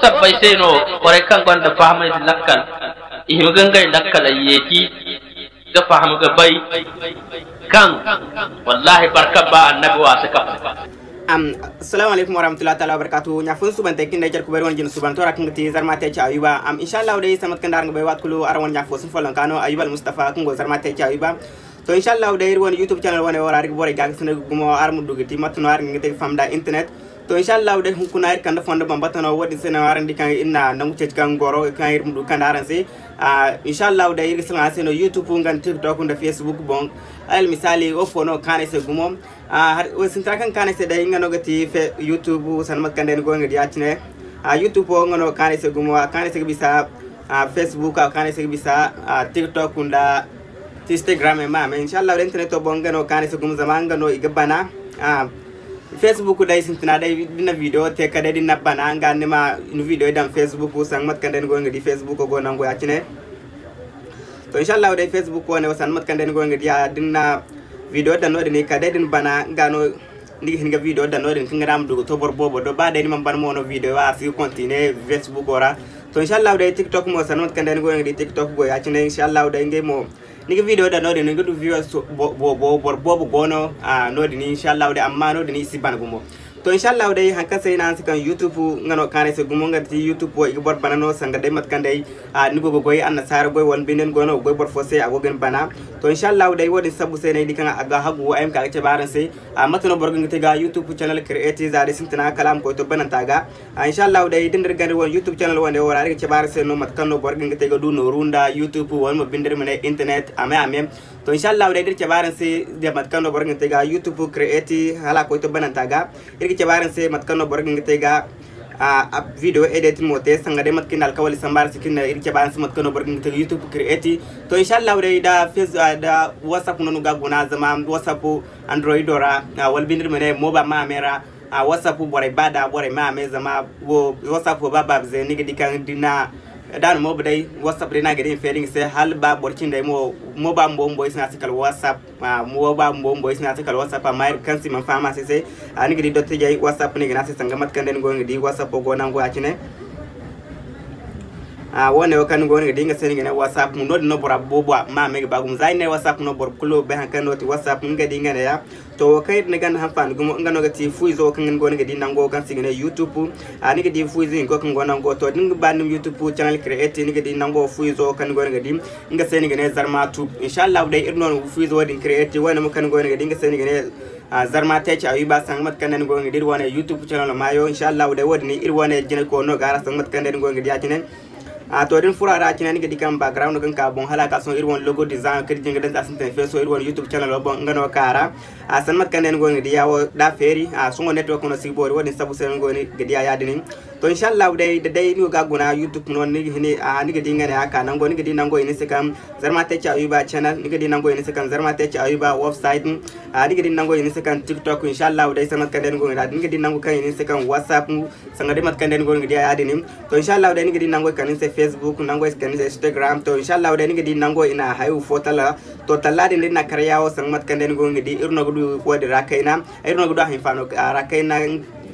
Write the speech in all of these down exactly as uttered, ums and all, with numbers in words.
Sabbay se no borey kaŋ gonda fahamay da lakkal, i hima ga ngey lakkal a yeeti ga faham ga bay kaŋ wallahi barka ba annabi wa si kafa. Am, assalamu alaikum warahmatullahi ta'ala wabarakatuh. Ɲa fo ni subante kin da jar kubay wani jin subanto ra kaŋ ga ti Zarma te ci Ayuba. Am, inshallah day sambat kaŋ da araŋ ga bay waati kulu araŋ wani ɲa fo sun follon kano Ayuba Al Mustafa kaŋ go Zarma te ci Ayuba. To inshallah day iri wani YouTube channel wane wara iri ga borey ga ga sene gumo araŋ ma du ga ti mate no araŋ ga te ga faham da internet. To inshallah day hunkuna iri kande fondo bambata no wodin se no araŋ di kaŋ iri na nangu ceeci kaŋ goro kaŋ iri ma du kande araŋ se. Ah, inshallah day iri ga sene araŋ se no YouTube nga TikTok nda Facebook boŋ. Alal misali wo fo no kaanay se gumo. Ah, har wo sintina kaŋ kaanay se day nga no ga ti fe YouTube sanda mate kaŋ day ni go nga di a cine. Ah, YouTube wo nga no kaanay se gumo a kaanay se ga bisa. Ah, Facebook a kaanay se ga bisa. Ah, TikTok nda Instagram ma me inshallah day internet boŋ nga no kaanay se gumo zama nga no i ga bana. Ah, Facebook day sintina day din na video te ka day din na bana nga ni ma ni video dan Facebook sanda mate kaŋ day ni go nga di Facebook go nango ya cine. To inshallah day Facebook wane wo sanda mate kaŋ day ni go nga di a din na video dan no din ka day din bana nga no. Ni ga hin ga video dan no din kaŋ ga da ma du ga to boro boobo do ba day ni man ban mo no video a si ga continue Facebook ra. To inshallah day TikTok mo sanda mate kaŋ day ni go nga di TikTok go ya cine inshallah day ngey mo. Ni ga video dan no din ni ga du viewers boobo boro boobo go no. Ah, no din inshallah day amma no din i si ban gumo. To inshallah day haŋ kaŋ se i na hanse kaŋ YouTube nga no kaanay se gumo nga ti YouTube wo i ga boro bana no sanga day mate kaŋ day. Ah, ni go ga goy annasaara goy wala binde ni go no ga goy boro fo se a go ga ni bana. To inshallah day wodin sabbu se no ay di kaŋ a ga hagu ay ma ka ga cabe araŋ se. Ah, mate no boro ga hin ga te ga YouTube channel create za day sintina kala a ma koy to bananta ga. Ah, inshallah day din dir gandi wani YouTube channel wane wo ra iri ga cabe araŋ se no mate kaŋ no boro ga hin ga te ga du nooru nda YouTube wala mo binde iri ma ne internet a me a me. To inshallah day dir cabe araŋ se da mate kaŋ no boro ga hin ga te ga YouTube create hala a koy to bananta ga. Iri ga cabe araŋ se mate kaŋ no boro ga hin ga te ga a video edit mo te sanga day mate kaŋ ni alkawali samba araŋ se kaŋ iri ga cabe araŋ se mate kaŋ no boro ga hin ga te ga YouTube create. To inshallah day da Facebook da WhatsApp no ni ga guna zama WhatsApp Android ra wala binde iri ma ne mobile ma a me ra. A WhatsApp borey ba da borey ma a me zama wo WhatsApp ba ba ze ni ga di kaŋ dina da no mo day WhatsApp day no a ga di feeri nga se hala ba boro cindey mo mo ba mbo mbo i si ne a se kala WhatsApp. Ah, mo ba mbo mbo i si ne a se kala WhatsApp amma iri kaŋ si man faham a se se. Ah, ni ga di dottijey WhatsApp ni ga ne a se sanga mate kaŋ day ni go nga di WhatsApp go nango ya cine. Ah, wo ne wo kaŋ ni go nga di nga se ni ga ne WhatsApp no din no bora boobo ma a me ga ba gumo za i ne WhatsApp no boro kulu bay haŋ kaŋ no ti WhatsApp ni ga di nga ne ya. To wo kaŋ iri na ganda hanfaani gumo nga no ga ti fu izo wo kaŋ ni go ni ga di nango kaŋ se i ga ne YouTube. Ah, ni ga di fu izo hinko kaŋ go nango to da ni ga ba ni ma YouTube channel create ni ga di nango fu izo wo kaŋ ni go ni ga di nga se ni ga ne Zarma Tube. Inshallah day iri no na fu izo wo din create wo ne mo kaŋ ni go ni ga di nga se ni ga ne. Ah, Zarma te ci Ayuba sanga mate kaŋ day ni go ni ga di iri wane YouTube channel maayo inshallah day wo din iri wane jine ko no ga ara sanga mate kaŋ day ni go ni ga di a cine. A to din furo a ra cine ni ga di kaŋ background kaŋ ka boŋ hala ka sohõ iri wane logo design kaŋ iri jin ga daŋ za sintin feeso iri wane YouTube channel boŋ nga no ka ra. A sanda mate kaŋ day ni go ni ga di ya wo da feeri a sohõ network no si ga boori wo din sabu se ni go ni ga di a ya- din. To inshallah day da day ni go ga guna YouTube no ni ga hini a ni ga di nga ne a ka nango ni ga di nango i ne se kaŋ Zarma te ci Ayuba channel ni ga di nango i ne se kaŋ Zarma te ci Ayuba website. A ni ga di nango i ne se kaŋ TikTok inshallah day sanda mate kaŋ day ni go ni ga di nango kaŋ i ne se kaŋ WhatsApp. Sanga day mate kaŋ day ni go ni ga di a ya- din. To inshallah day ni ga di nango i kande ni se Facebook nango i kande ni se Instagram to inshallah day ni ga di nango i na hayo fo talla. To talla din da ni na kar yawo sanga mate kaŋ day ni go ni ga di iri no ga du wo din ra kayna. Iri no ga du a hinfaano ra kayna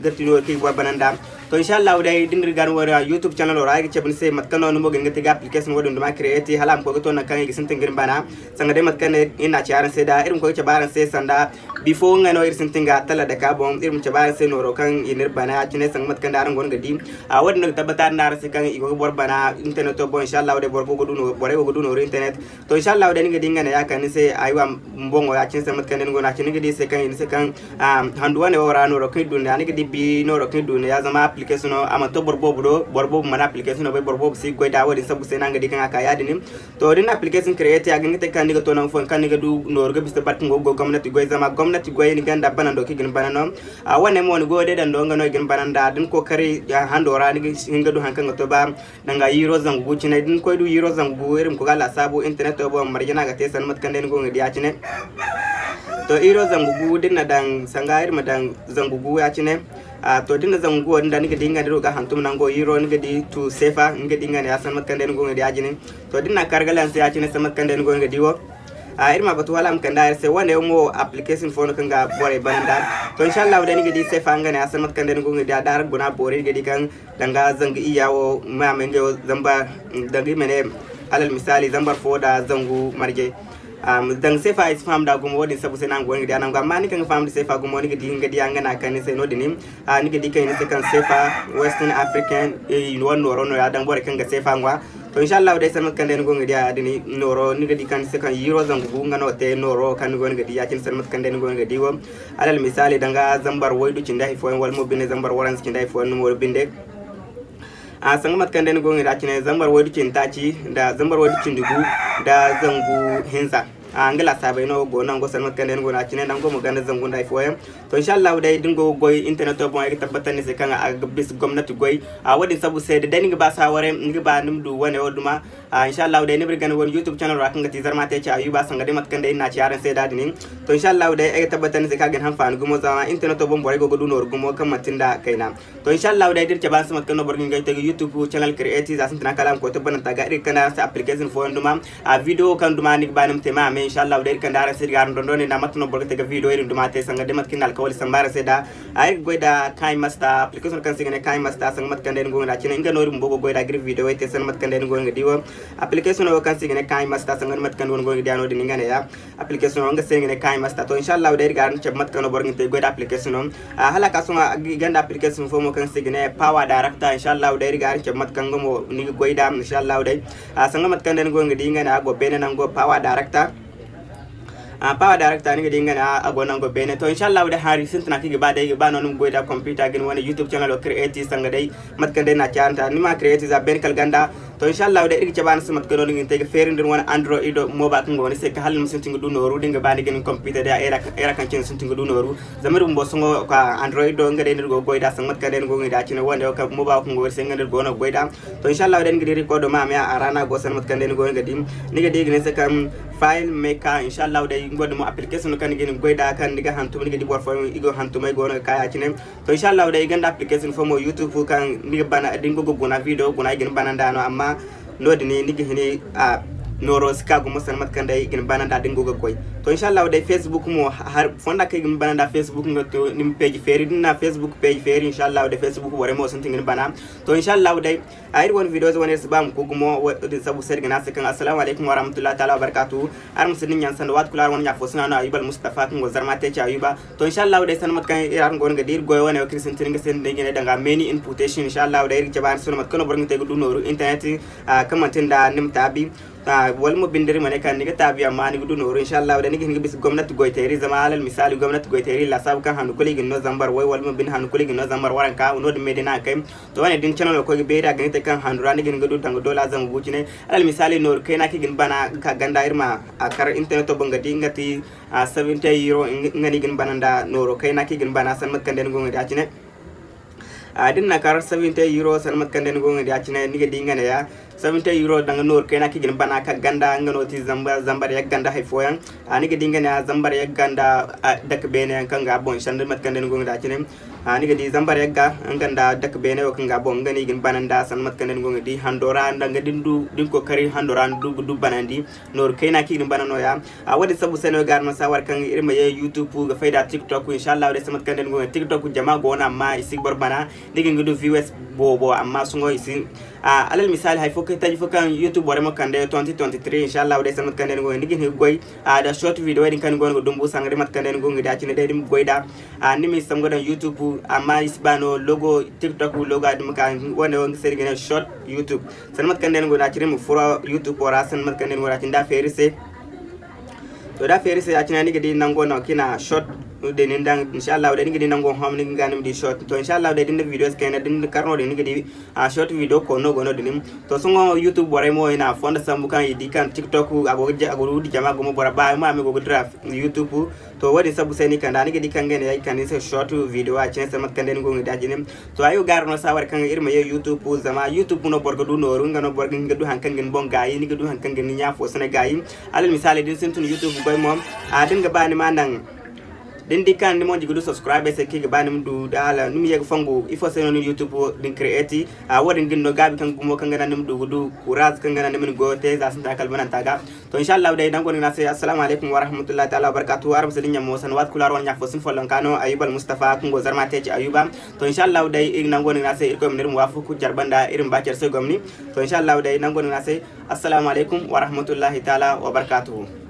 ga ti no kaŋ i ga boro bananda. To inshallah day da ni ga ni wo ra YouTube channel ra ay ga cabe ni se mate kaŋ no ni mo ga hin ga te ga application wo din duma create hala a ma koy ga to nangu kaŋ i ga sintin ga ni bana. Sanga day mate kaŋ day iri na a ci araŋ se da iri ma koy ga cabe araŋ se sanda. Bifo nga no iri sintin ga talla dake a boŋ iri ma cabe araŋ se nooro kaŋ i n'iri bana ya- cine sanga mate kaŋ day araŋ go no ga di. A wo- din no ga tabbata araŋ se kaŋ i go ga boro bana interneto boŋ inshallah day boro go ga du no- borey go ga du nooru internet. To inshallah day ni ga di nga ne ya- kande ni se aywa boŋo ya- cine sanga mate kaŋ day ni go no a- cine ni ga di se kaŋ i ne se kaŋ handu wane wo ra nooro kaŋ i du ne ya ni ga di bi nooro kaŋ i du ne ya zama application no a mana to boro boobo do boro boobo mana application no bay boro boobo si ga goy da wo- din sabu se no a ga di kaŋ a ka ya- din. To da ni na application create a ga hin ga te kaŋ ni ga to nangu fooyaŋ kaŋ ni ga du nooru ga bisa boro kaŋ go ga goy gomnati goy zama gomnati goy ni ganda banando kaŋ i ga ni bana no. A wane mo ni goyo day dando nga no i ga ni bananda da ni kookari hando ra ni ga hin ga du haŋ kaŋ ga to ba. Danga yiro zangu gu cine da ni koy du yiro zangu gu iri ma koy ga laasaabu interneto boŋ marje no a ga te sanda mate kaŋ day ni go ga di a cine. To yiro zangu gu da ni na daŋ sanga iri ma daŋ zangu gu ya- cine. A to da ni na zangu gu wo din da ni ga di nga ne iri go ga hantum nango yiro ni ga di tu seefa ni ga di nga ne ya sanda mate kaŋ day ni go ga di a jine. To da ni na kar ga lanse ya- cine sanda mate kaŋ day ni go ga di wo. A, iri ma batu hala a ma kande araŋ se. Wane yaŋ mo application fo no kaŋ ga borey bana nd'a. To, inshallahu day ni ga di seefa nga ne a se mate kaŋ day ni go ga di a da araŋ guna boori ni ga di kaŋ danga zangu iyya wo ma a ma ngey wo zambar, danga i ma ne alal misaali zambar fo da zangu marje. Am, danga seefa ay si faham da gumo, wo-din sabu se no a go ga di a nangu. Amma ni kaŋ ga faham da seefa gumo, ni ga di nga di a nga ne a kande ni se no-din. A, ni ga di kaŋ i ne se kaŋ seefa Western African, eh, wane nooro no ya daŋ borey kaŋ ga seefa ŋwa. To, inshallahu day, sanda mate kaŋ day ni go ga di a din nooro, ni ga di kaŋ ni se kaŋ euro zangu gu nga no te nooro kaŋ ni go ga di ya-cine sanda mate kaŋ day ni go ga di wo. Alal misaali, danga zambar waydu cindi hay fooyaŋ wala mo binde zambar waranza cindi hay fooyaŋ no mo binde. A, sanda mate kaŋ day ni go ga di a cine zambar waydu cindi taaci nda zambar waydu cindi gu nda zangu hinza. A, nga laasaabey no go nango sanda mate kaŋ day ni go no a cine nango mo ganda zangu nda hay fooyaŋ. To, inshallahu day, da ni go ga goy interneto boŋ, ay ga tabbatar ni se kaŋ a ga bisa gomnati goy. A, wo-din sabu se, da day ni ga ba saaware, ni ga ba ni ma du wane wo duma. A, inshallahu day, ni ma iri gana wane YouTube channel ra kaŋ ga ti Zarma Tech Ayuba, sanda day mate kaŋ day iri na a ci araŋ se da din. To, inshallahu day, ay ga tabbatar ni se kaŋ a ga ni hanfaani gumo, zama interneto boŋ borey go ga du nooru gumo kaŋ manti nda kayna. To, inshallahu day, da iri cabe araŋ se mate kaŋ no boro ga hin ga ay te ga YouTube channel create, za sintina kala a ma koy tabbatanta ga iri ga kande araŋ se application fooyaŋ duma. A, video kaŋ duma ni ga ba ni ma te ma a me, inshallahu day, iri kande araŋ se iri ga araŋ dondon nda mate no boro ga te ga video iri duma te sanda day mate kaŋ iri na alkawali sambu araŋ se da. A, iri ga goy da KineMaster, application kaŋ se i ga ne KineMaster, sanda mate kaŋ day ni go ga di a cine, nga no iri bumbo go ga goy da ga iri video te sanda mate kaŋ day ni go ga di wo. Application wo kaŋ se i ga ne KineMaster, sanda mate kaŋ day ni go ga di a no-din nga ne ya. Application wo nga se i ga ne KineMaster. To, inshallahu day, iri ga araŋ cabe mate kaŋ no boro ga hin ga te ga goy da application wo. A, hala ka sohõ i gonda application fo mo kaŋ se i ga ne Power Director, inshallahu day, iri ga araŋ cabe mate kaŋ nga mo ni ga goy da, inshallahu day. A, sanda mate kaŋ day ni go ga di nga ne a go beene nango Power Director. A, Power Director ni ga di nga ne a go nango beene. To, inshallahu day, hari sintina kaŋ i ga ba day, i ga ba no ni ma goy da computer ga ni wane YouTube channel wo create sanda day mate kaŋ day na caaranta ni ma create za beene kala ganda. To, inshallahu day, iri ga cabe araŋ se mate kaŋ no ni ga hin ga te ga feeri nda ni wane Android mobile kaŋ go ni se kaŋ hala ni ma sintin ga du nooru da ni ga ba ni ga ni computer day a era kaŋ cine sintin ga du nooru. Zama iri bumbo sohõ ka Android do nga day no iri go ga goy da sanda mate kaŋ day ni go ga di a cine wane wo kaŋ mobile kaŋ go iri se nga no iri go no ga goy da. To, inshallahu day, ni ga di record ma a me a ra no a go sanda mate kaŋ day ni go ga di. Ni ga di i ga ne se kaŋ FileMaker, inshallahu day, nga dumo application no kaŋ ni ga hin ga goy da kaŋ ni ga hantum, ni ga di boro fooyaŋ i go hantumay go no ga ka ya-cine. To, inshallahu day, i gonda application fo mo YouTube kaŋ ni ga bana da ni go ga guna video guna i ga ni bana nda no, amma no-din ni ga hin a nooro si ka gumo sanda mate kaŋ day i ga ni bana nda da ni go ga goy. To, inshallahu day, Facebook mo har fonda kaŋ i ga ni bana nda Facebook nga to ni ma page feeri da ni na Facebook page feeri, inshallahu day, Facebook borey mo sintin ga ni bana. To, inshallahu day, a, iri wane video wane iri si ba ma ku gumo, wo-din sabu se iri ga ne a se kaŋ assalamu alaykum warahmatullahi taala wabarakatuhu. Araŋ ma si din ɲaŋ sanda waati kulu araŋ wane ɲa fo sina no Ayuba Almustafa kaŋ go Zarma Tech Ayuba. To, inshallahu day, sanda mate kaŋ iri araŋ go no ga di iri goyo wane wo kaŋ iri sintin nga se nda iri ga ne danga many inputation, inshallahu day, iri ga cabe araŋ se no mate kaŋ no boro ga te ga du nooru internet, a, kaŋ manti nda ni ma taabi. A, wala mo binde iri ma ne kaŋ ni ga taabi amma ni ga du nooru, inshallahu day, ni ga hin ga bisa gomnati goyteeri, zama alal misaali gomnati goyteeri laasaabu kaŋ handu kulu i ga ni no zambar way wala mo binde handu kulu i ga ni no zambar waranka, no-din me day no a ga kay. To, wane da ni channel koy ga beeri a ga ni te kaŋ handu ra ni ga hin ga du danga doola zangu gu cine. Alal misaali, nooru kayna kaŋ i ga ni bana ga ka ganda iri ma a kar interneto boŋ ga di nga ti, a, seventy euro, nga no i ga ni bana nda nooru kayna kaŋ i ga ni bana sanda mate kaŋ day ni go ga di a cine. A, da ni na kar seventy euro sanda mate kaŋ day ni go ga di a cine, ni ga di nga ne ya, seventy euro danga nooru kayna kaŋ i ga ni bana ka ganda nga no ti zamba, zambar yagga nda hay fooyaŋ. A, ni ga di nga ne ya zambar yagga nda, a, dake beene yaŋ kaŋ ga boŋ sanda mate kaŋ day ni go ga di a cine. A, ni ga di zambar yagga nga nda dake beene wo kaŋ ga boŋ nga no i ga ni bana nda sanda mate kaŋ day ni go ga di hando ra nda nga da ni du, da ni kookari hando ra ni du, du banandi. Nooru kayna kaŋ i ga ni bana nooya. A, wo-din sabu se no ay ga araŋ no saaware kaŋ iri ma ye YouTube ga fay da TikTok, inshallahu day, sanda mate kaŋ day ni go ga di TikTok jama go no amma i si ga boro bana. Ni ga hin ga du views boobo amma sohõ i si. A, alal misaali, hay fo kaŋ taji fo kaŋ YouTube borey mo kande twenty twenty-three, inshallahu day, sanda mate kaŋ day ni go ga di ni ga hin ga goy, a, da short video din kaŋ ni go no ga dumbu sanda day mate kaŋ day ni go ga di a cine day ni ma goy da. A, ni ma i sambu ga daŋ YouTube amma i si ba no logo TikTok logo a duma ka wane wo nga se iri ga ne short YouTube. Sanda mate kaŋ day ni go da a cine ma furo YouTube wo ra sanda mate kaŋ day ni go da a cine da feeri se. To, da feeri se ya-cine ni ga di nango no kaŋ i na short din ni daŋ, inshallahu day ni ga di nango home ni ga ni ma di short. To, inshallahu day da ni na video kayna da ni na kar no-din ni ga di, a, short video koono go no-din. To, sohõ YouTube borey mo i na fondo sambu kaŋ i di kaŋ TikTok a go ga ja-, a go ga windi jama gumo bora ba ma me go ga dira YouTube. To, wo-din sabu se ni kanda ni ga di kaŋ ga ne ay kande ni se short video a cine sanda mate kaŋ day ni go ga di a cine. To, ay wo ga araŋ no saaware kaŋ iri ma ye YouTube zama YouTube no boro ga du nooru, nga no boro ga hin ga du haŋ kaŋ ga ni boŋ gaayi, ni ga du haŋ kaŋ ga ni ɲa fo sine gaayi. Alal misaali, da ni sintin YouTube goy mo, a, da ni ga ba ni ma naŋ Da ni di kaŋ ni mo ga du subscribe ay se kaŋ i ga ba ni ma du da hala ni ma ye ga fongu ifo se no ni YouTube din create. A wo-din ga ni no gaabi kaŋ gumo kaŋ ga naŋ ni ma du ga du courage kaŋ ga naŋ ni ma ni goyo te za sintina kala bananta ga. To inshallahu day nango ni ga ne a se assalamu alaikum warahmatullahi taala wabarakatuhu. Araŋ ma si dinya mo sanda waati kulu araŋ wane ɲa fo sin follonka no Ayuba Almustafa kaŋ go Zarma Tech Ayuba. To inshallahu day iri nango ni ga ne a se Irkoy ma ne iri ma waafaku care banda iri ma ba care se gomni. To inshallahu day nango ni ga ne a se assalamu alaikum warahmatullahi taala wabarakatuhu.